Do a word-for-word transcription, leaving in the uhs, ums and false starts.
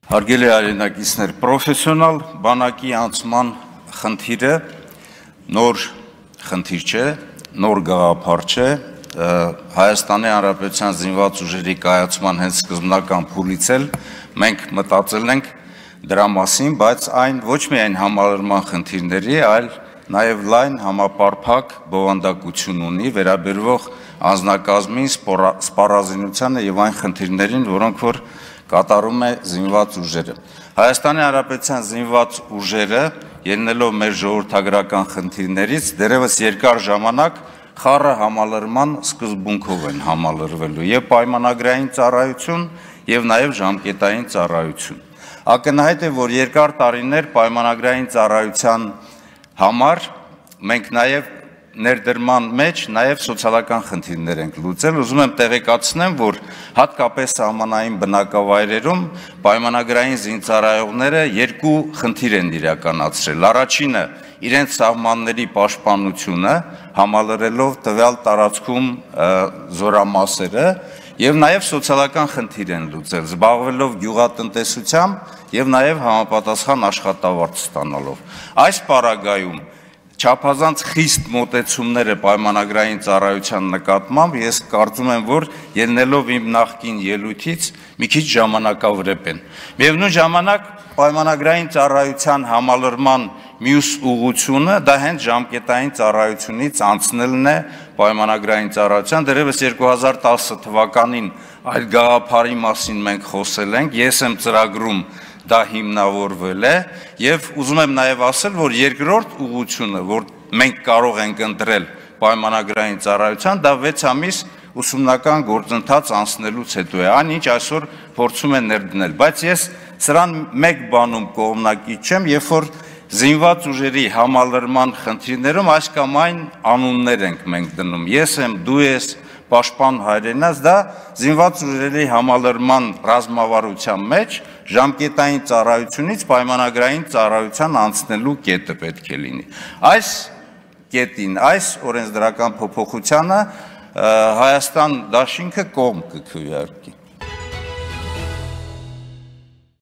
Հարգելի հայրենակիցներ, պրոֆեսիոնալ բանակի անցման խնդիրը նոր խնդիր չէ, նոր գաղափար չէ, Հայաստանի Հանրապետության զինված ուժերի կայացման հենց սկզբնական փուլից էլ մենք մտածել ենք դրա մասին, բայց այն ոչ միայն համալրման խնդիրների, այլ նաև լայն համապարփակ բովանդակություն ունի վերաբերվող անձնակազմին, սպառազինությանը եւ այն խնդիրներին, որոնք որ կատարում է զինված ուժերը։ Հայաստանի Հանրապետության զինված ուժերը, ելնելով մեր ժողովրդագրական խնդիրներից, դեռևս երկար ժամանակ խառը համալրման սկզբունքով են համալրվելու եւ պայմանագրային ծառայություն եւ նաեւ ժամկետային ծառայություն։ Ակնհայտ է, որ երկար տարիներ պայմանագրային ծառայության համար մենք նաեւ ներդրման մեջ նաև սոցիալական խնդիրներ ենք լուծել, ուզում եմ տեղեկացնեմ, որ հատկապես սահմանային բնակավայրերում պայմանագրային զինծառայողները երկու խնդիր են իրականացրել։ Առաջինը իրենց սահմանների պաշտպանությունը, համալրելով տվյալ տարածքում զորամասերը, եւ նաև սոցիալական խնդիր են լուծել, զբաղվելով գյուղատնտեսությամբ եւ նաև համապատասխան աշխատավարձ ստանալով։ Այս պարագայում չափազանց խիստ մոտեցումները պայմանագրային ծառայության նկատմամբ ես կարծում եմ, որ ելնելով իմ նախկին ելույթից մի քիչ ժամանակավրեպ են։ Միևնույն ժամանակ պայմանագրային ծառայության համալրման մյուս ուղղությունը դա հենց ժամկետային ծառայությունից անցնելն է պայմանագրային ծառայության, դեռևս երկու հազար տասը թվականին այլ գաղափարի մասին մենք խոսել ենք, ես եմ ծրագրում դա հիմնավորվել է եւ ուզում եմ նաեւ ասել, որ երկրորդ ուղղությունը, որ մենք կարող ենք ընտրել պայմանագրային ծառայության, դա վեց ամիս ուսումնական գործընթաց անցնելուց հետո է, այն ինչ այսօր փորձում են ներդնել, բայց ես սրան մեկ բանում կողմնակից չեմ, երբ որ զինված ուժերի համալրման խնդիրներում այս կամ այն անուններ ենք մենք դնում, ես եմ, դու ես, պաշտպան հայրենաց, դա զինված ուժերի համալրման ռազմավարության մեջ ժամկետային ծառայությունից պայմանագրային ծառայության անցնելու կետը պետք է լինի։ Այս կետին, այս օրենսդրական փոփոխությանը Հայաստան դաշինքը կողմ կքվեարկի։